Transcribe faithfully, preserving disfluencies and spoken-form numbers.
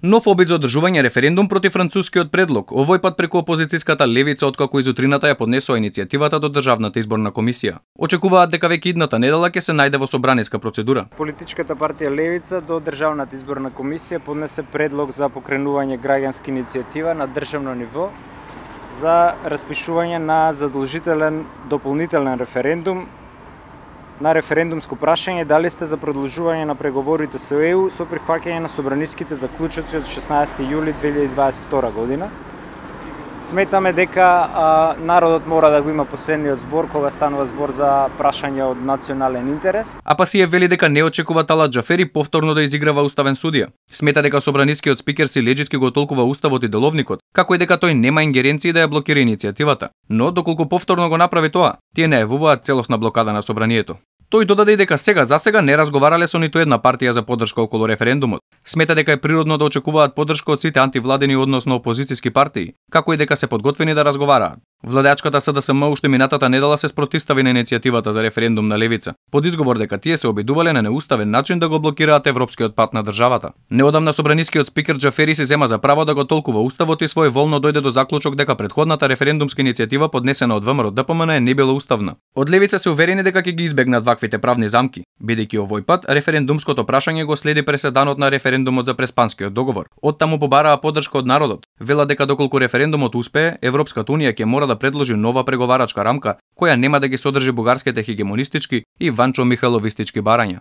Нов обид за одржување референдум против францускиот предлог, овој пат преку опозицијската левица, откако изутрината ја поднесува иницијативата до Државната изборна комисија. Очекуваат дека веќе идната недела ќе се најде во собраниска процедура. Политичката партија Левица до Државната изборна комисија поднесе предлог за покренување граѓанска иницијатива на државно ниво за распишување на задолжителен дополнителен референдум на референдумско прашање дали сте за продолжување на преговорите со Е У со прифаќање на собраниските заклучоци од шеснаесети јули две илјади дваесет и втора година. Сметаме дека а, народот мора да го има последниот збор кога станува збор за прашање од национален интерес. Апасиев вели дека не очекува Талат Џафери повторно да изиграва уставен судија. Смета дека собранискиот спикер Силеџиски го толкува уставот и деловникот, како и дека тој нема ингеренции да ја блокира иницијативата. Но доколку повторно го направи тоа, тие најавуваат целосна блокада на собранието. Тој додаде и дека сега за сега не разговарале со ниту една партија за поддршка околу референдумот. Смета дека е природно да очекуваат поддршка од сите антивладени, односно опозицијски партии, како и дека се подготвени да разговараат. Владеачката С Д С М уште минатата недела се спротистави на иницијативата за референдум на левица, под изговор дека тие се обидувале на неуставен начин да го блокираат европскиот пат на државата. Неодамна собранискиот спикер Џафери се зема за право да го толкува уставот и своеволно дојде до заклучок дека претходната референдумска иницијатива поднесена од ВМРО Д П М Н не била уставна. Од левица се уверени дека ќе ги избегнат ваквите правни замки, бидејќи овој пат референдумското прашање го следи преседанот на референдумот за Преспанскиот договор. Оттаму побараа поддршка од народот. Вела дека доколку референдумот успее, Европската унија ќе мора да предложи нова преговарачка рамка која нема да ги содржи бугарските хегемонистички и Ванчо Михайловистички барања.